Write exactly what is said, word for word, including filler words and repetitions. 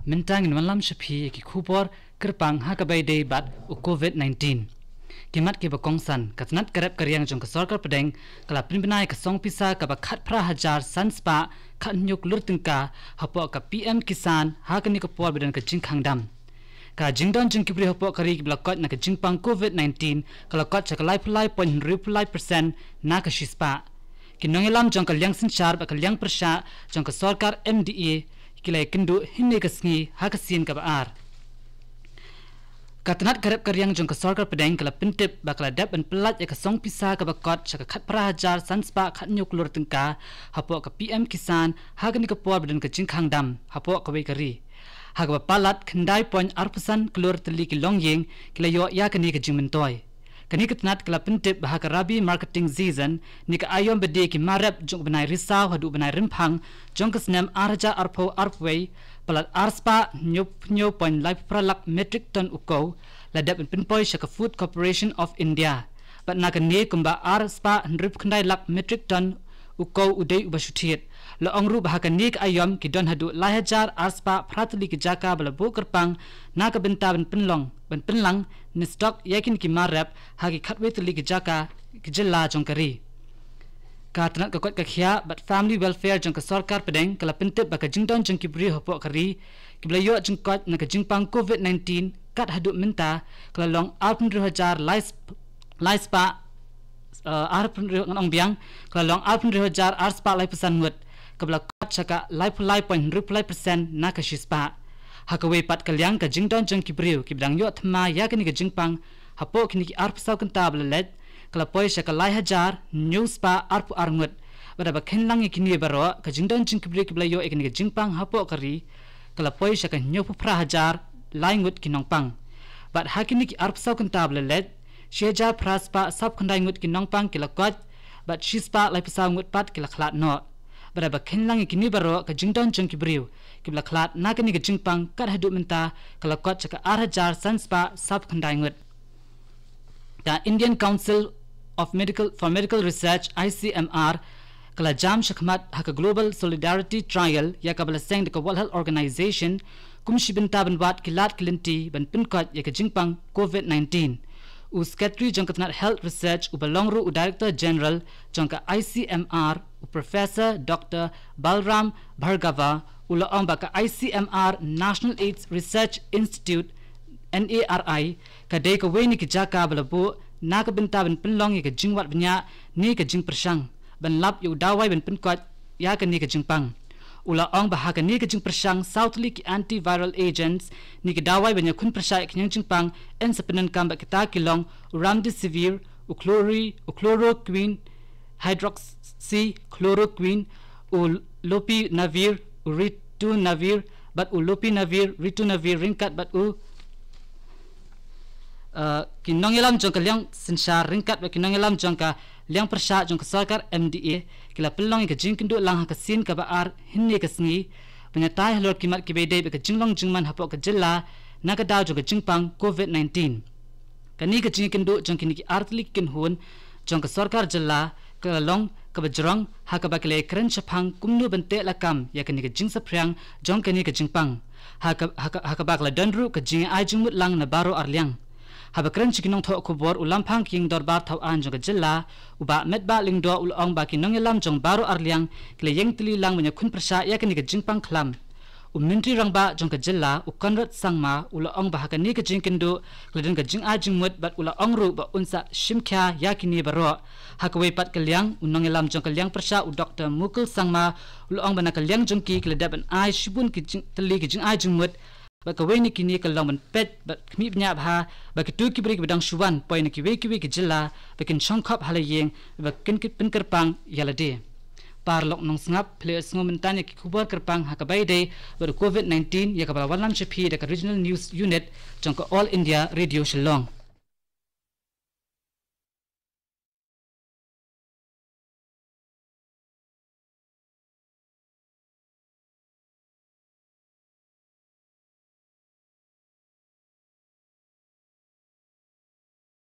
Mynta ngin wanlam sha phi ïa ki khubor kyrpang ha kaba ïadei bad u Covid nineteen. Ki mat kiba kongsan, ka tnat ka rep ka riang jong ka sorkar pdeng ka la pynbna ïa ka song pisa kaba khatphra hajar san spah khathynñiew klur tyngka hapoh ka P M Kisan ha kane ka por ba don ka jingkhang dam. Ka jingdon jong ki briew hapoh ka ri kiba la koit na ka jingpang Covid nineteen ka la koit sha ka laiphew lai point hynriewphew lai percent na ka shispah. Ki nongïalam jong ka liang synshar bad ka liang pyrshah jong ka sorkar M D A ki la ïakynduh hynne ka sngi ha ka sien kaba ar. Ka tnat ka rep ka riang jong ka sorkar pdeng ka la pyntip ba ka la dep ban pyllait ïa ka song pisa kaba koit sha ka khatphra hajar san spah khathynñiew klur tyngka hapoh ka P M Kisan ha kane ka por ba don ka jingkhang dam hapoh kawei ka ri. Ha kaba palat khyndai point arphew san klur tylli ki longïing ki la ïoh ïa kane ka jingmyntoi. Kane ka tnat ka la pyntip ba ha ka Rabi marketing season, ne ka aïom ba die ki mar rep jong u bnai Risaw haduh u bnai Rymphang jong ka snem ar hajar arphew arphew wei, palat ar spah hynñiewphew hynñiew point laiphew phra lak metric ton u kow la dep ban pynpoi sha ka Food Corporation of India. Bad na kane kumba ar spah hynriewphew khyndai lak metric ton u kow u dei uba shu thied. La ong ruh ba ha kane ka aïom ki don haduh lai hajar ar spah phra tylli ki jaka ba la buh kyrpang na ka bynta ban pynlong, ban pynlang ne stock ïa kine ki mar rep ha ki khatwei tylli ki jaka, ki jylla jong ka ri. Ka tnat ka koit ka khiah bad family welfare jong ka sorkar pdeng ka la pyntip ba ka jingdon jong ki briew hapoh ka ri kiba la ïoh jingkoit na ka jingpang Covid nineteen kat haduh mynta ka la long arphew hynriew hajar lai sp-, lai spah, eh, arphew hynriew, ngan ong biang, ka la long arphew hynriew hajar ar spah laiphew san ngut, kaba la koit sha ka laiphew lai point hynriewphew lai percent na ka shispah. Ha kawei pat ka liang, ka jingdon jong ki briew kiba dang ïoh thma ïa kane ka jingpang hapoh kine ki arphew saw kynta ba la leit ka la poi sha ka lai hajar hynñiew spah arphew ar ngut. Bad haba khein lang ïa kine baroh, ka jingdon jong ki briew kiba la ïoh ïa kane ka jingpang hapoh ka ri ka la poi sha ka hynñiewphew phra hajar lai ngut ki nongpang. Bad ha kine ki arphew saw kynta ba la leit, shi hajar phra spah sawphew khyndai ngut ki nongpang ki la koit, bad shi spah laiphew saw ngut pat ki la khlad noh. Bad haba khein lang ïa kine baroh, ka jingdon jong ki briew kiba la khlad na kane ka jingpang kat haduh mynta ka la koit sha ka ar hajar san spah sawphew khyndai ngut. Ka Indian Council of Medical, for Medical Research, I C M R, ka la jam shakhmat ha ka Global Solidarity Trial ïa kaba la seng da ka World Health Organization kum shi bynta ban wad ki lad ki lynti ban pynkoit ïa ka jingpang Covid nineteen. U Secretary jong ka tnat Health Research uba long ruh u Director General jong ka I C M R, u Professor Doctor Balram Bhargava, u la ong ba ka I C M R National AIDS Research Institute, N A R I, ka dei kawei na ki jaka ba la buh na ka bynta ban pynlong ïa ka jingwad bniah ne ka jingpyrshang ban lap ïa u dawai ban pynkoit ïa kane ka jingpang. U la ong ba ha kane ka jingpyrshang, saw tylli ki antiviral agents ne ki dawai ban ïakhun pyrshah ïa ka jingpang yn sa pyndonkam bad kita ki long u remdesivir, u chlori-, u chloroquine, hydroxychloroquine, u lopinavir, u ritonavir, bad u lopinavir, ritonavir ryngkat bad u, uh, ki nongïalam jong ka liang synshar ryngkat bad ki nongïalam jong ka liang pyrshah jong ka sorkar M D A ki la pynlong ïa ka jingkynduh lang ha ka sien kaba ar hynne ka sngi ban ïatai halor ki mat kiba ïadei bad ka jinglong jingman hapoh ka jylla na ka daw jong ka jingpang Covid nineteen. Kane ka jingïakynduh jong kine ki artylli ki kynhun jong ka sorkar jylla ka la long kaba jrong ha kaba ki la ïakren shaphang kumno ban teh lakam ïa kane ka jingsaphriang jong kane ka jingpang. Ha ka, ha ka, ha kaba ka la don ruh ka jingai jingmut lang na baroh arliang. Haba kren sha ki nongthoh khubor u Lamphang ka ïing dorbar thaw aiñ jong ka jylla, u Bah Metbah Lyngdoh, u la ong ba ki nongïalam jong baroh arliang ki la ïeng tylli lang ban ïakhun pyrshah ïa kane ka jingpang khlam. U Myntri Rangbah jong ka jylla, u Conrad Sangma, u la ong ba ha kane ka jingïakynduh ka la don ka jingai jingmut bad u la ong ruh ba un sa shim khia ïa kine baroh. Ha kawei pat ka liang, u nongïalam jong ka liang pyrshah, u Doktor Mukul Sangma, u la ong ba na ka liang jong ki, ki la dep ban ai shibun ki jing-, tylli ki jingai jingmut. Bad kawei na kine ka long ban peit bad khmih bniah bha ba kito ki briew kiba dang shu wan poi na kiwei kiwei ki jylla ba kin shongkhop ha la ïing, ba kin, kin pynkyrpang ïa lade. Paralok nongsngap, phi la ïohsngew mynta ïa ki khubor kyrpang ha kaba ïadei bad u Covid nineteen ïa kaba la wanlam sha phi da ka Regional News Unit jong ka All India Radio Shillong.